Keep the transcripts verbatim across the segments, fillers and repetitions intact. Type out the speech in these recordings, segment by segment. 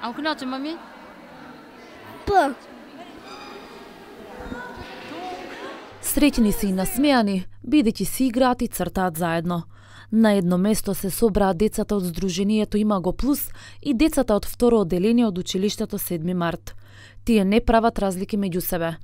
А hoe knalt je, mami? П. Среќни се и насмеани, бидејќи си играат и цртаат заедно. На едно место се собраа децата од Сдруженијето Има го плюс и децата од второ одделение од училиштето седми март. Тие не прават разлики меѓу себе.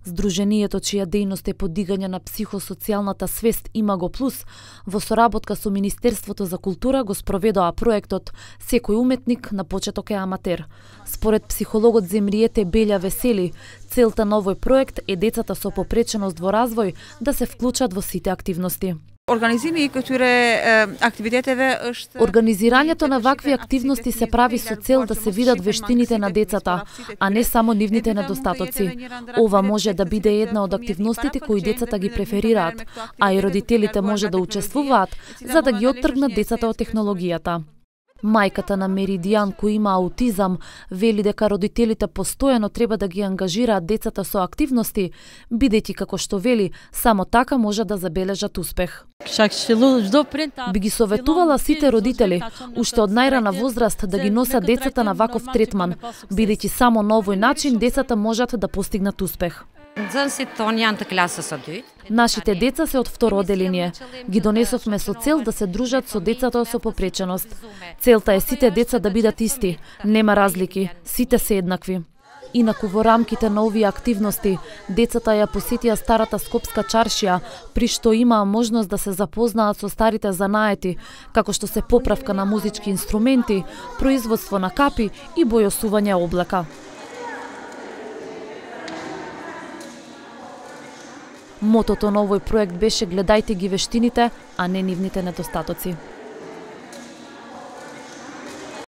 Сдруженијето, чија дејност е подигање на психосоцијалната свест Има го плюс, во соработка со Министерството за култура го спроведоа проектот Секој уметник на почеток е аматер. Според психологот Земриете Белја Весели, целта на овој проект е децата со попреченост во развој да се вклучат во сите активности. Организирани културе активитетеве është Организирањето на вакви активности се прави со цел да се видат вештините на децата, а не само нивните недостатоци. Ова може да биде една од активностите кои децата ги преферираат, а и родителите може да учествуваат за да ги оттргнат децата од технологијата. Мајката на Меридијан, кој има аутизам, вели дека родителите постојано треба да ги ангажираат децата со активности, бидејќи како што вели, само така може да забележат успех. Би ги советувала сите родители, уште од најрана возраст, да ги носат децата на ваков третман, бидејќи само на овој начин децата можат да постигнат успех. Нашите деца се од второ одделение. Ги донесовме со цел да се дружат со децата со попреченост. Целта е сите деца да бидат исти, нема разлики, сите се еднакви. Инаку во рамките на овие активности, децата ја посетија старата Скопска чаршија, при што имаа можност да се запознаат со старите занаети, како што се поправка на музички инструменти, производство на капи и бојосување облека. Мотото на овој проект беше гледајте ги вештините, а не нивните недостатоци.